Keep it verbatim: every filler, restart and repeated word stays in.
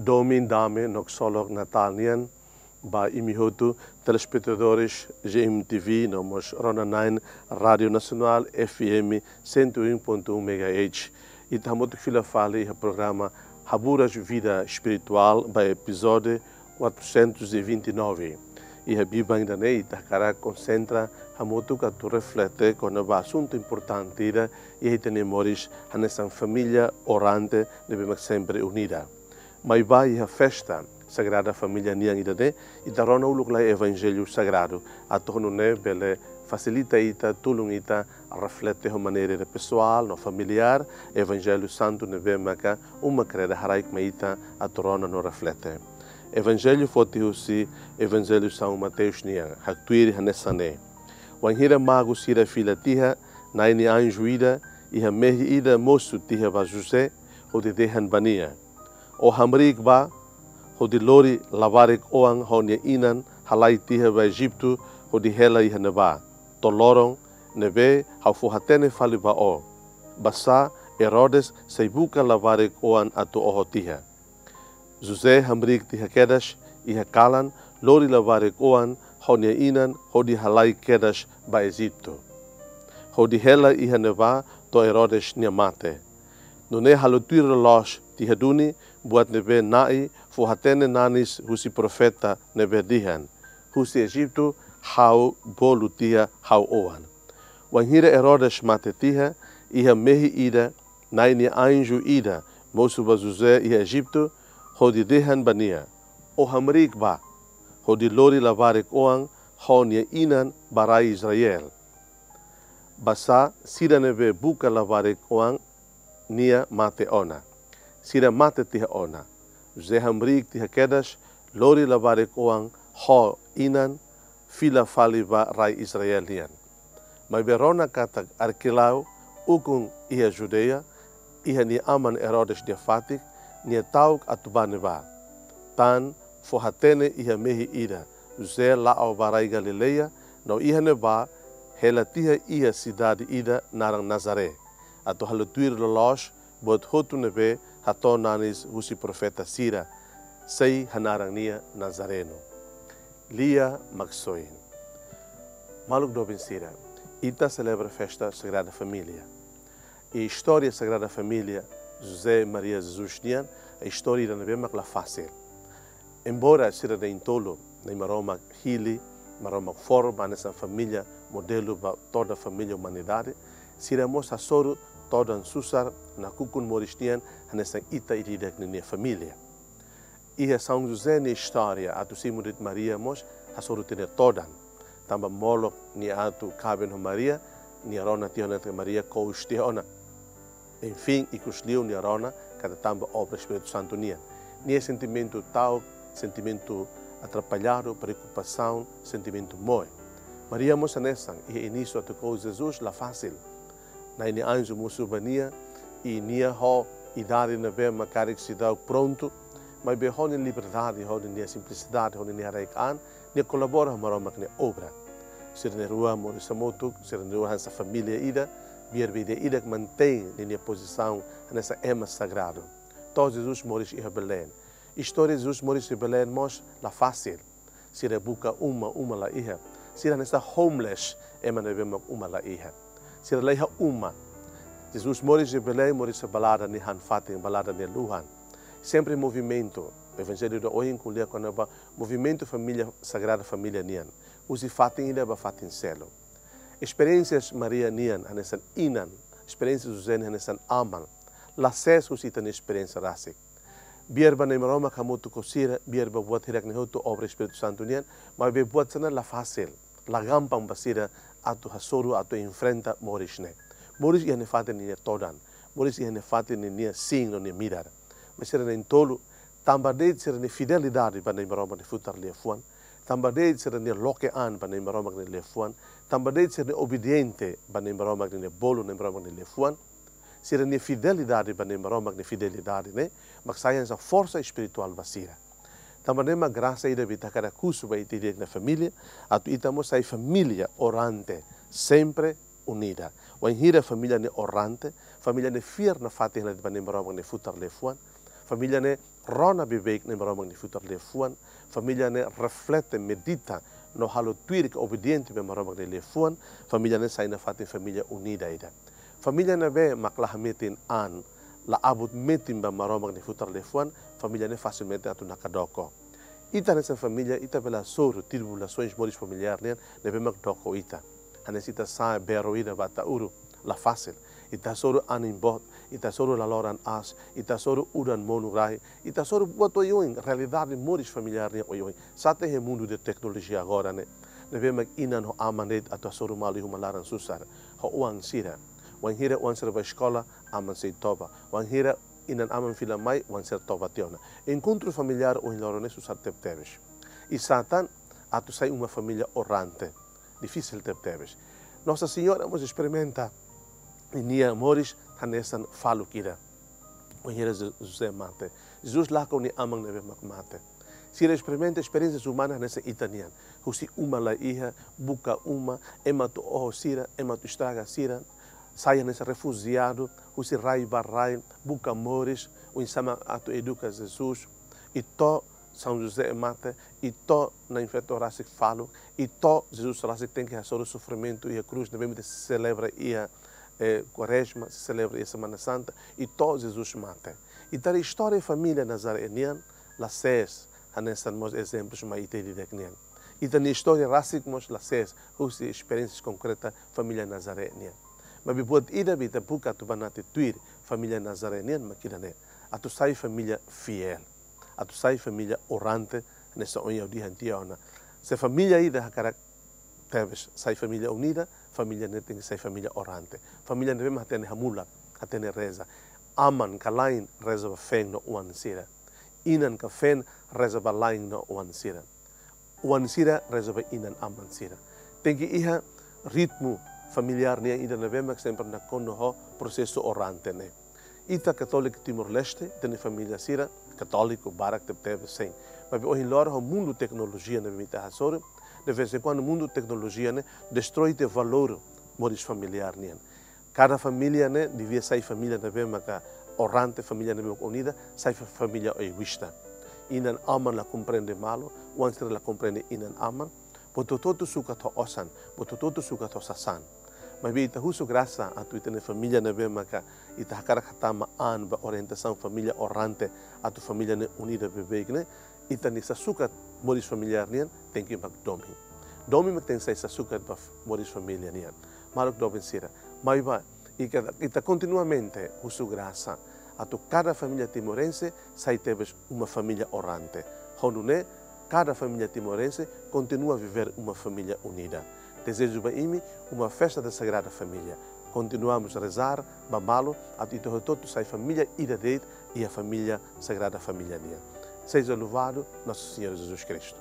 Domin dame no ksolok Natál nian ba imi hotu, telespetadores G M T V, no mós rona-na'in Rádio Nacional F M cento e um ponto um megahertz. Ita hamutuk fila fali iha programa Haburas Vida Espiritual ba epizódiu quatrocentos e vinte e nove. Iha biban ida-ne'e ita hakarak konsentra hamutuk atu reflete kona-ba asuntu importante ida iha ita-nia moris hanesan família orante ne'ebé mak sempre unida. Maibé iha festa Sagrada Família nian ida-ne'e, ita rona uluk lai Evanjellu Sagradu, atu ho nune'e bele fasilita ita, tulun ita reflete ho maneira pesoál no familiár Evanjellu Santu ne'ebé maka uma kreda haraik mai ita atu rona no reflete. Evanjellu foti husi Evanjellu São Mateus nian, haktuir hanesan ne'e: Wainhira magu sira fila tiha, Na'i nia anju ida iha mehi ida mosu tiha ba José, hodi dehan ba nia: Ó hamriik bá, hodi lori labarik-oan ho nia inan halai tiha ba Ejitu, hodi hela iha ne'ebá to'o loron ne'ebé ha'u fó-hatene fali ba ó. Basá Herodes sei buka labarik-oan atu oho tiha. José hamriik tiha kedas iha kalan, lori labarik-oan ho nia inan hodi halai kedas ba Ejitu, hodi hela iha ne'ebá to'o Herodes nia mate. Nune'e halo tuir loloos tiha duni buat ne'ebé Na'i fó-hatene nanis husi profeta ne'ebé dehan: Husi Ejitu ha'u bolu tiha ha'u-oan. Wainhira Herodes mate tiha, iha mehi ida, Na'i nia anju ida mosu ba José iha Ejitu, hodi dehan ba nia: Ó hamriik bá, hodi lori labarik-oan ho nia inan ba rai Israel. Basá sira ne'ebé buka labarik-oan nia mate ona. Sira mate tiha ona. José hamriik tiha kedas, lori labarik-oan ho inan, fila fali ba rai Israel nian. Maibé rona katak Arquelau, ukun iha Judeia, iha nia aman Herodes nia fatin, nia ta'uk atu bá ne'ebá. Tan fó-hatene iha mehi ida, José la'o ba rai Galileia, no iha ne'ebá hela tiha iha sidade ida naran Nazaré, atu halo tuir loloos buat hotu ne'ebé hato'o nanis husi profeta sira, sei hanaran nia Nazareno. Lia Maksoin. Maluk doben sira, ita selebra festa Sagrada Família. I istória Sagrada Família, José, Maria, Jesus nian, istória ida ne'ebé mak la fasil. Embora sira na'in-tolu, Na'i Maromak hili, Maromak forma hanesan família modelu ba toda família umanidade, sira mós hasoru todan susar nakukun moris nian hanesan ita ida-idak ninia família. Iha São José nia istória atu simu de'it Maria mós hasoru tiha nia todan. Tanba molok nia atu kaben ho Maria, nia rona tiha ona katak Maria kous tiha ona. Enfin, ikusliu nia rona katak tanba obra Espíritu Santu nian. Nia sentimentu ta'uk, sentimentu atrapalladu, preokupasaun, sentimentu moe. Maria mós hanesan, iha inísiu atu kous Jesus la fasil. Na'i nia anju mosu ba nia, i nia ho idade ne'ebé mak karik seidauk prontu, maibé ho nia liberdade, ho nia simplisidade, ho nia haraik-an, nia kolabora ho Maromak nia obra. Sira na'in-rua moris hamutuk, sira na'in-rua hanesan família ida, biar be ida-idak mantein ninia pozisaun hanesan ema sagradu. To'o Jesus moris iha Belém. Istória Jesus moris iha Belém mós la fasil. Sira buka uma, uma la iha. Sira hanesan homeless, ema ne'ebé mak uma la iha. Sira la iha uma. Jesus moris iha Belém, moris iha balada nia han-fatin, balada nia luhan. Sempre movimentu. Evanjellu ida ohin ko'alia kona-ba movimentu família, Sagrada Família nian. Husi fatin ida ba fatin seluk. Esperiénsia Maria nian hanesan inan, esperiénsia José nian hanesan aman, la sees husi ita-nia esperiénsia rasik. Biar ba Na'i Maromak hamutuk ho sira, biar ba buat hirak-ne'e hotu obra Espíritu Santu nian, maibé buat sira-ne'e la fasil, la gampang ba sira atu hasoru, atu enfrenta moris ne'e. Moris iha nia fatin ninia todan, moris iha nia fatin ninia sin no nia midar. Maibé sira na'in-tolu, tanba de'it sira-nia fidelidade ba Na'i Maromak nia futar liafuan, tanba de'it sira-nia loke an ba Na'i Maromak nia liafuan, tanba de'it sira-nia obediente ba Na'i Maromak ninia bolu, Na'i Maromak nia liafuan, sira-nia fidelidade ba Na'i Maromak nia fidelidade ne'e mak sai hanesan forsa espirituál ba sira. Tanba ne'e mak grasa ida be ita hakarak husu ba ita ida-idak nia família, atu ita mós sai família orante, sempre unida. Wainhira família ne'e orante, família ne'e fiar nafatin hela ba Na'i Maromak nia futar liafuan, família ne'e rona beibeik ne'e Maromak nia futar liafuan, família ne'e reflete, medita, no halo tuir ka obediente ba Maromak nia liafuan, família ne'e sai nafatin família unida ida. Família ne'ebé mak la hametin an, la abut metin ba Maromak nia futar liafuan, família ne'e fasilmente atu nakdoko. Ita hanesan família, ita bele hasoru tribulasoens moris familiár nian ne'ebé mak doko ita. Hanesan ita sa'e bero ida ba Ataúru, la fasil. Ita hasoru anin boot, ita hasoru laloran aas, ita hasoru udan monu rai, ita hasoru buat oioin, realidade moris familiár nian oioin. Sá ita iha mundu de teknolojia agora ne'e, ne'ebé mak inan ho aman de'it atu hasoru malu iha uma laran susar, ho oan sira. Wainhira oan sira bá eskola, aman sei toba. Wainhira inan-aman fila mai, oan sira toba tiha ona. Enkontru familiár ohin loron ne'e susar tebetebes. I sá tan atu sai uma família orante. Difisil tebetebes. Nossa Senhora mós esperimenta nia moris hanesan faluk ida. Wainhira Je-, José mate. Jesus lakon nia aman ne'ebé mak mate. Sira esperimenta esperiénsia umana hanesan ita nian. Husi uma la iha, buka uma, ema atu oho sira, ema atu estraga sira. Sai hanesan refujiadu, husi rai ba rai, buka moris, oinsá mak atu eduka Jesus. I to'o São José mate, i to'o Na'in-Feto rasik faluk, i to'o Jesus rasik tenke hasoru sofrimentu iha krús, ne'ebé mak ita selebra iha, eh, Kuarezma, selebra iha Semana Santa, i to'o Jesus mate. Ita haree istória família Nazaré nian, la sees, hanesan mós ezemplus mai ita di'ak nian. Ita-nia istória rasik mós la sees, husi esperiénsia konkreta família Nazaré nian. Maibé buat ida be ita buka atu banati tuir família Nazaré nian mak ida-ne'e. Atu sai família fiél. Atu sai família orante, hanesan ohin ha'u dehan tiha ona. Se família ida hakarak tebes sai família unida, família ne'e tenke sai família orante. Família ne'ebé mak hatene hamulak, hatene reza. Aman ka la'en reza ba feen no oan sira. Inan ka feen reza ba la'en no oan sira. Oan sira reza ba inan-aman sira. Tenke iha ritmu familiár nian ida ne'ebé mak sempre nakonu ho prosesu orante ne'e. Ita Katóliku Timor-Leste, ita-nia família sira Katóliku barak tebetebes, sin. Maibé ohin loron ho mundu teknolojia ne'ebé ita hasoru, de vez em quando mundu teknolojia ne'e destroi tiha valór moris familiár nian. Kada família ne'e devia sai família ne'ebé maka orante, família ne'ebé maka unida, sai fa-, família egoísta. Inan-aman la komprende malu, oan sira la komprende inan-aman, buat hotu-hotu sukat ho osan, buat hotu-hotu sukat ho sasán. Maibé ita husu grasa atu ita-nia família ne'ebé maka ita hakarak hatama an ba orientasaun família orante, atu família ne'e unida beibeik ne'e, ita-nia sasukat moris familiár nian tenke mak domin. Domin mak tenke sai sasukat ba f-, moris família nian. Maluk doben sira, mai ba, ita, ita kontinuamente husu grasa atu kada família timorense sai tebes uma família orante. Ho nune'e, kada família timorense kontinua viver uma família unida. Dezeju ba imi uma festa da Sagrada Família. Continuamos rezar ba malu atu ita hotu-hotu sai família ida de'it, iha família Sagrada Família nian. Seja louvado Nosso Senhor Jesus Cristo.